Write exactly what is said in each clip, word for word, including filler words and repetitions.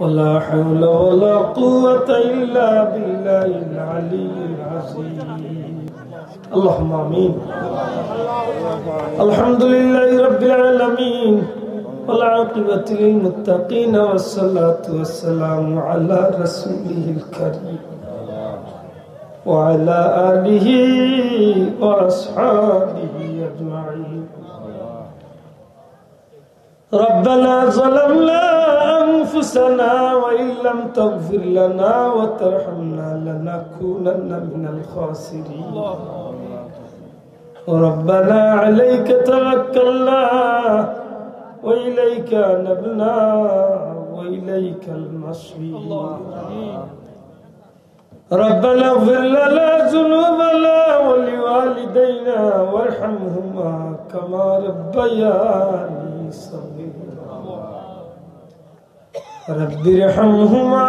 ولا حول ولا قوة إلا بالله العلي العظيم. اللهم آمين. الحمد لله رب العالمين، والعاقبة للمتقين، والصلاة والسلام على رسوله الكريم وعلى آله وأصحابه أجمعين. ربنا ظلمنا أنفسنا وإن لم تغفر لنا وترحمنا لنكونن من الخاسرين. ربنا عليك توكلنا وإليك أنبنا وإليك المصير. ربنا اغفر لنا ذنوبنا ولوالدينا وارحمهما كما ربياني صغيرا. رب ارحمهما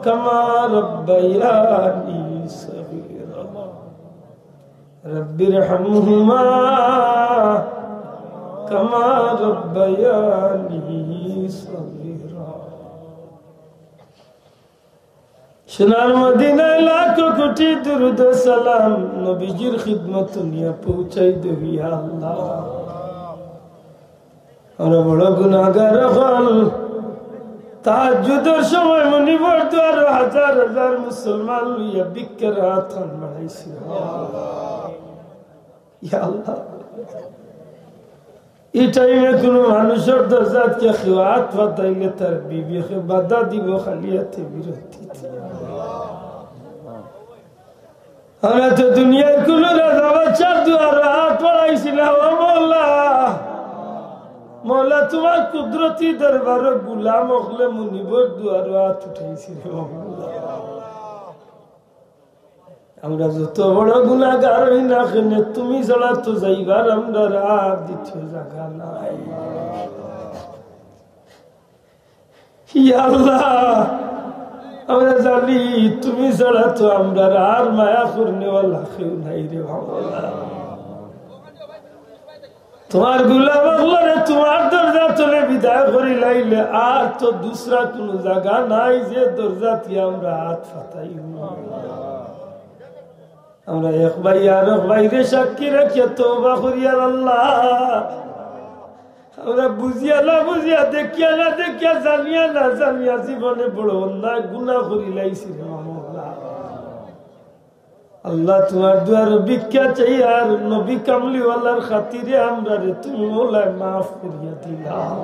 كما ربياني صغيرا. رب ارحمهما كما ربياني صغيرا. সোনার মদিনায় লাখো কোটি দুরুদ ও সালাম নবীজির খিদমত নিয়া পৌঁছাই দেও, ইয়া আল্লাহ। আমরা বড় গুনাহগার অকল। তাহাজ্জুদর সময় মনিবর দুয়ারো হাজার হাজার মুসলমান লইয়া ভিক্ষার হাত খান বাড়াইছি। ইয়া আল্লাহ, ই টাইমে কুনু মানুষর দরজাত গিয়া কেউ আত পাতাইলে তার বিবেকে বাধা দিবো, খালি আতে বিরতি দিবো। আমরা তো দুনিয়ার কুনু রাজা বাদশার দুয়ারো আত বাড়াইছি না, ও মওলা। মওলা, তুমার কুদরতি দরবারো গুলাম অকলে মনিবর দুয়ারো আত উঠাইছি রে, ও মওলা। আমরা যত বড় গুনাহগার অই না কেনে, তুমি ছাড়া তো যাইবার আমরার আর দ্বিতীয় জাগা নাই। ইয়া আল্লাহ, আমরা জানি তুমি ছাড়া তো আমরার আর মায়া করনেওয়ালা কেউ নাই রে বাবা। তুমার গুলাম অকলরে তুমার দরজা তনে বিদায় করিলাইলে আর তো দুসরা কুনু জাগা নাই যে দরজাত গিয়া আমরা আত পাতাইমু। আমরা এক ভাই আর এক ভাইরে সাক্ষী রাখিয়া তওবা করিয়ার আল্লাহ, আমরা বুঝিয়া না বুঝিয়া, দেখিয়া না দেখিয়া, জানিয়া না জানিয়া জীবনে বড় অন্যায় গুনাহ করিলাইছি রে মাওলা। আল্লাহ, তুমার দুয়ারো ভিক্ষা চাইয়ার নবী কামলিওয়ালার খাতিরে আমরারে তুমি মওলায় মাফ করিয়া দিলাও।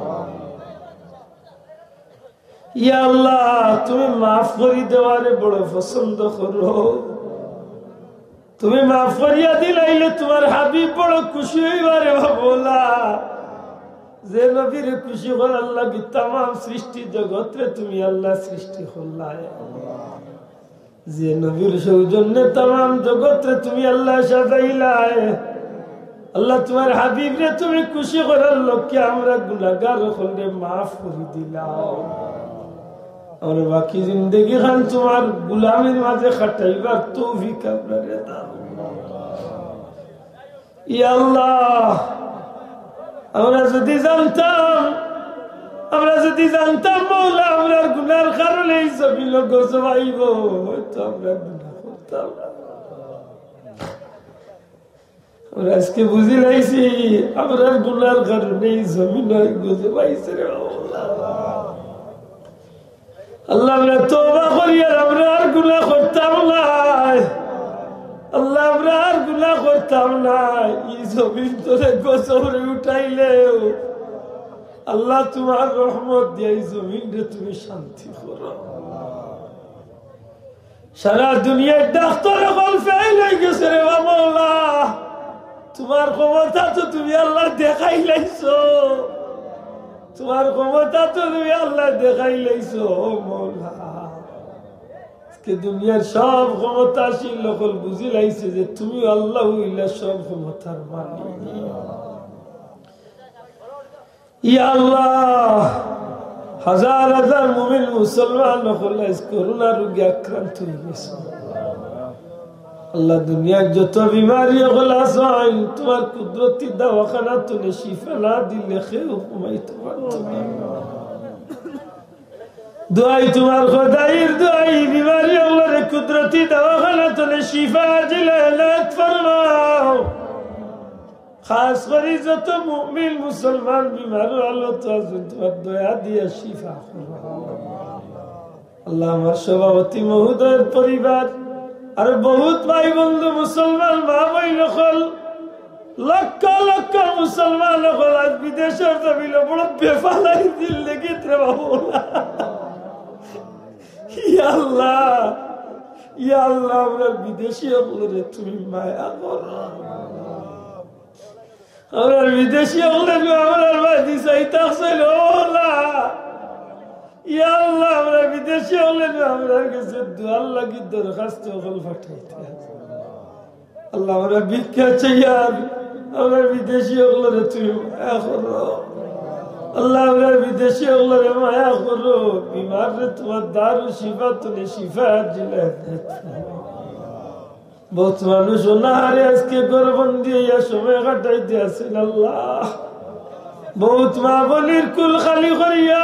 ইয়া আল্লাহ, তুমি মাফ করি দেওয়ারে বড় পছন্দ করো। তুমি মাফ করিয়া দিলাইলে তুমার হাবিব বড় খুশি অইবা রে বাবা। যে নবীরে খুশি করার লাগি তামাম সৃষ্টি জগতরে তুমি আল্লাহ সৃষ্টি করলায়। যে নবীর সৌজন্যে তামাম জগতরে তুমি আল্লাহ সাজাইলায়, আল্লাহ তুমার হাবিবরে তুমি খুশি করার লক্ষ্যে আমরা গুনাহগার অকলরে মাফ করি দিলাও। আমরা বাকি জিন্দেগি খান তুমার গুলামির মাঝে কাটাইবার তৌফিক আমরারে দাও। ইয়া আল্লাহ, আমরা যদি জানতাম, আমরা যদি জানতাম মওলা, আমরার গুনার কারণে ই জমিনো গজব আইবো, হয়তো আমরা গুনা করতাম না। আমরা আজকে বুঝিলাইছি, আমরার গুনার কারণে ই জমিনো গজব আইছে রে আল্লাহ। আল্লাহ, আমরা তওবা করিয়ার আমরা আর গুনা করতাম নায়। আল্লাহ, আমরা আর গুনা করতাম নায়। ই জমিন তনে গজবরে উঠাইলেও আল্লাহ, তুমার রহমত দিয়া ই জমিনরে তুমি শান্তি করো। সারা দুনিয়ার ডাক্তার অকল ফেইল অইগেছে রে বাবা মওলা। তুমার ক্ষমতা তো তুমি আল্লাহ দেখাইলাইছো, তুমার ক্ষমতা তো তুমি আল্লাহ দেখাইলাইছো, ও মওলা। আজকে দুনিয়ার সব ক্ষমতাশীল অকল বুঝিলাইছে যে তুমি আল্লাহ অইলা সব ক্ষমতার মালিক। ইয়া আল্লাহ, হাজার হাজার মুমিন মুসলমান অকল আইজ করোনা রোগে আক্রান্ত অইগেছে। আল্লাহ, দুনিয়ার যত বিমারি অকল আছইন, তুমার কুদরতি দাওয়াখানা তনে শিফা না দিলে কেউ কমাইতো পারতো না। দোয়াই তুমার খোদাইর দোয়াই, বিমারি অকলরে কুদরতি দাওয়াখানা তনে শিফা আজিলা এনায়েত ফরমাও। খাস করি যত মুমিন মুসলমান বিমার হালত আছইন, তুমার দয়া দিয়া শিফা করো। আল্লাহ, আমার সভাপতি মহোদয়ের পরিবার আর বহুত ভাই বন্ধু মুসলমান মা বইন অকল, লক্ষ লক্ষ মুসলমান অকল আজ বিদেশর জমিনো বড় বেফালাই জিন্দেগিত রে বাবু। ইয়া আল্লাহ, ইয়া আল্লাহ, আমরার বিদেশি অকলরে তুমি মায়া করো। আমরার বিদেশি অকলে নু আমরার বায়দি চাইতা আছইন, ও আল্লাহ। ইয়া আল্লাহ, আমরার বিদেশি অকলে নু আমরার গেছে দোয়ার লাগি দরখাস্ত অকল পাঠাইতা। আল্লাহ, আমরা ভিক্ষা চাইয়ার, আমরার বিদেশি অকলরে তুমি মায়া করো। আল্লাহ, আমরার বিদেশি অকলরে মায়া করো। বিমাররে তুমার দারুল শিফা তনে শিফা আজিলা এনায়েত ফরমাও। বহুত মানুষ অনাহারে আজকে ঘরবন্দি অইয়া সময় কাটাইতে আছইন। আল্লাহ, বহুত মা বইনর কুল খালি করিয়া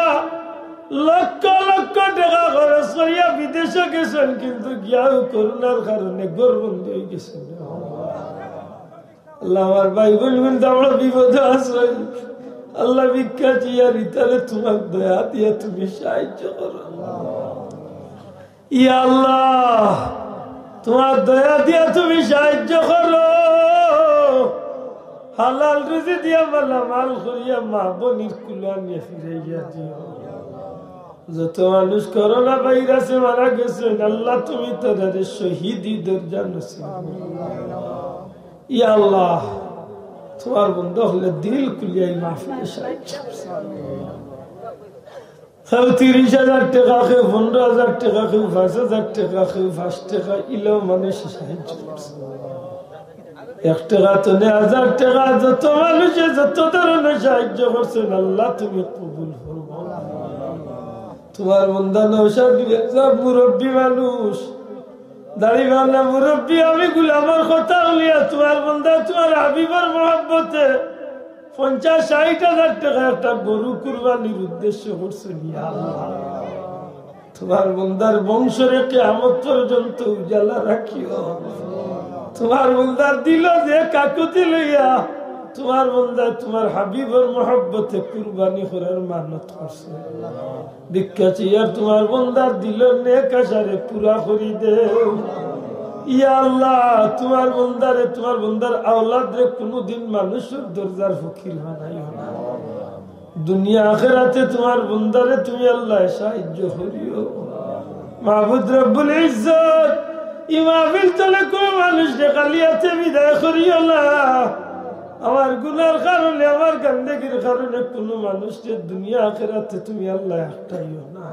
লক্ষ লক্ষ টেকা খরচ করিয়া বিদেশো গেছইন, কিন্তু গিয়াও করোনার কারণে ঘরবন্দি অইগেছইন। আল্লাহ, আমার ভাই বইন কিন্তু বড় বিপদো আছইন। আল্লাহ, ভিক্ষা চাইয়ার ইতারে তুমার দয়া দিয়া তুমি সাহায্য করো। ইয়া আল্লাহ, তুমার দয়া দিয়া তুমি সাহায্য করো। হালাল রুজি দিয়া মালামাল করিয়া মা বইনর কুলো আনিয়া ফিরাইয়া দিও। যত মানুষ করোনা ভাইরাসে মারা গেছইন, আল্লাহ, তুমি তারারে শহীদি দরজা নসিব করো। ইয়া আল্লাহ, তুমার বন্দা অকলে দিল খুলিয়া ই মাহফিলে সাহায্য করো। কেউ তিরিশ হাজার টেকা, কেউ পনরো হাজার টেকা, কেউ পাঁচ হাজার টেকা, কেউ পাঁচ টেকা, ইলাও মানুষে সাহায্য করছে। এক টেকা তনে হাজার টেকা, যত মানুষে যত ধরনের সাহায্য করছইন, আল্লাহ তুমি কবুল করো। তুমার বন্দা নওশাদ মিয়া সাব মুরব্বি মানুষ, দাড়িওয়ালা মুরব্বি, আমি গুলামর কথা হুনিয়া তুমার বন্দা তুমার হাবিবর মহব্বতে পঞ্চাশ ষাইট হাজার টেকা একটা গরু কুরবানির উদ্দেশ্য করছইন। ইয়া আল্লাহ, তুমার বন্দার বংশরে কিয়ামত পর্যন্ত উজালা রাখিও। তুমার বন্দার দিলো যে কাকুতি লইয়া তুমার বন্দায় তুমার হাবিবর মহব্বতে কুরবানি করার মানত করছে। ভিক্ষা চাইয়ার তুমার বন্দার দিলর নেক আশারে পুরা করি দেও। ইয়া আল্লাহ, তুমার বন্দারে, তুমার বন্দার আওলাদরে কুনুদিন মানুষর দরজার ফকির বানাইও না। দুনিয়া আখেরাতে তুমার বন্দারে তুমি আল্লাহ সাহায্য করিও। মাবুদ রব্বুল ইজ্জত, ই মাহফিল তনে কুনু মানুষরে খালি আতে বিদায় করিও না। আমার গুনার কারণে, আমার গান্দেগির কারণে কুনু মানুষরে দুনিয়া আখেরাতে তুমি আল্লাহ একটাইও না।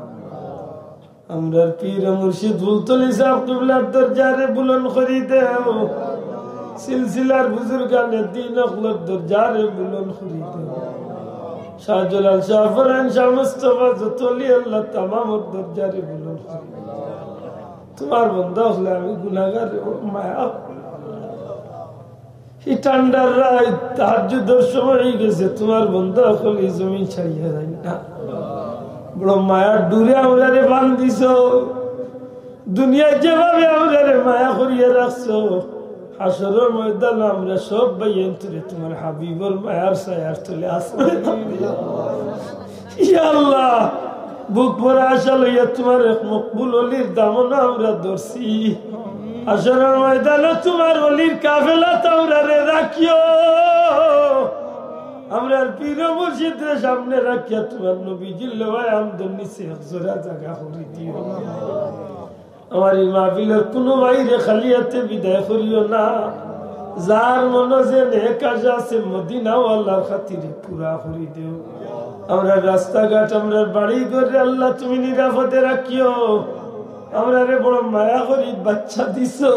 আমরার পীর মুর্শিদ ফুলতলি সাব কিবলার দরজারে বুলন্দ করি দেও। সিলসিলার বুজুর্গানে দ্বীন অকলর দরজারে বুলন্দ করি দেও। শাহজালাল, শাহপরান, শাহ মুস্তফা, যত অলি আল্লাহ তামামর দরজারে বুলন্দ করি দেও। তুমার বন্দা অকলে আমি গুনাগার, ও মায়া। ই ঠান্ডার রাইত, তাহাজ্জুদর সময় অইগেছে, তুমার বন্দা অকল ই জমিন ছাড়িয়া যাইন না। বড় মায়ার ডুরে আমরারে বান্ধিছো। দুনিয়াত যেভাবে আমরারে মায়া করিয়া রাখছো, হাশরর ময়দানো আমরা সব ভাইয়াইন্তরে তুমার হাবিবর মায়ার ছায়ার তলে আশ্রয় দিও। ইয়া আল্লাহ, বুক ভরা আশা লইয়া তুমার এক মকবুল অলির দামনো আমরা ধরছি। হাশরর ময়দানো তুমার অলির কাফেলাত আমরারে রাখিও। আমরার পীর মুর্শিদরে সামনে রাখিয়া তুমার নবীজির লেওয়ায়ে হামদর নিচে এক জোড়া জাগা করি দিও। আমার ই মাহফিলর কুনু ভাইরে খালি আতে বিদায় করিও না। যার মনো যে নেক আশা আছে, মদিনাওয়ালার খাতিরে পুরা করি দেও। আমরার রাস্তাঘাট, আমরার বাড়ি ঘররে আল্লাহ তুমি নিরাপদে রাখিও। আমরারে বড় মায়া করি বাচ্চা দিছো।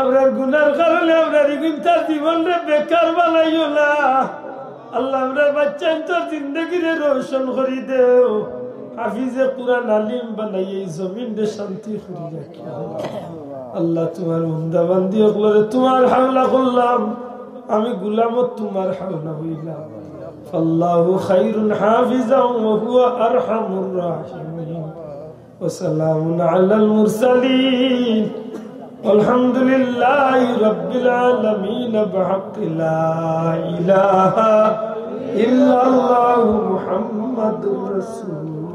আমরার গুনার কারণে আমরার ইগুইনতার জীবনরে বেকার বানাইও না। আল্লাহ, আমরার বাচ্চাইন্তর জিন্দেগিরে রোশন করি দেও। হাফিজে কুরআন আলিম বানাইয়া ই জমিনরে শান্তি করি রাখিও। আল্লাহ, তুমার বন্দা বান্দি অকলরে তুমার হাওলা করলাম, আমি গুলামো তুমার হাওলা অইলাম। فالله خير حافظا وهو أرحم الراحمين. وسلام على المرسلين. والحمد لله رب العالمين بحق لا إله إلا الله محمد رسول